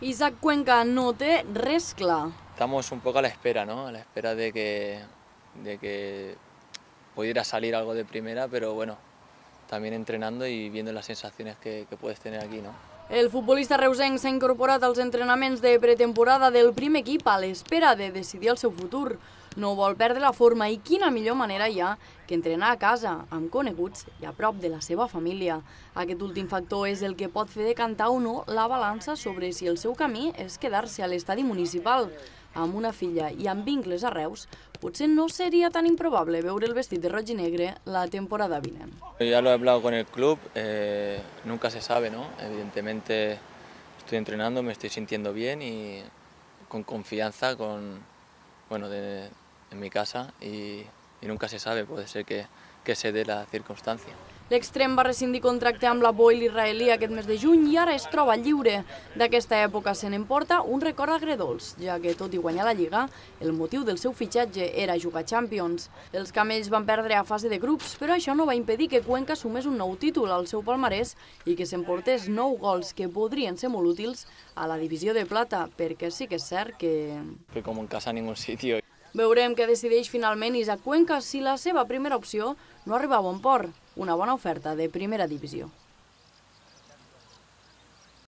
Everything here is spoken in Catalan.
Isaac Cuenca no té res clar. Estamos un poco a la espera, ¿no? A la espera de que pudiera salir algo de primera, pero bueno, también entrenando y viendo las sensaciones que puedes tener aquí, ¿no? El futbolista reusenc s'ha incorporat als entrenaments de pretemporada del primer equip a l'espera de decidir el seu futur. No vol perdre la forma i quina millor manera hi ha que entrenar a casa, amb coneguts i a prop de la seva família. Aquest últim factor és el que pot fer decantar o no la balança sobre si el seu camí és quedar-se a l'estadi municipal. Amb una filla i amb vincles a Reus, potser no seria tan improbable veure el vestit de roig i negre la temporada vinent. Ya lo he hablado con el club, nunca se sabe, ¿no? Evidentemente estoy entrenando, me estoy sintiendo bien y con confianza en mi casa y nunca se sabe, puede ser que se dé la circunstancia. L'extrem va rescindir contracte amb la Boil israelí aquest mes de juny i ara es troba lliure. D'aquesta època se n'emporta un record agredolç, ja que tot i guanyar la Lliga, el motiu del seu fitxatge era jugar Champions. Els camells van perdre a fase de grups, però això no va impedir que Cuenca sumés un nou títol al seu palmarès i que s'emportés 9 gols que podrien ser molt útils a la divisió de plata, perquè sí que és cert que... Que como en casa en ningún sitio. Veurem què decideix finalment Isaac Cuenca si la seva primera opció no arriba a bon port, una bona oferta de primera divisió.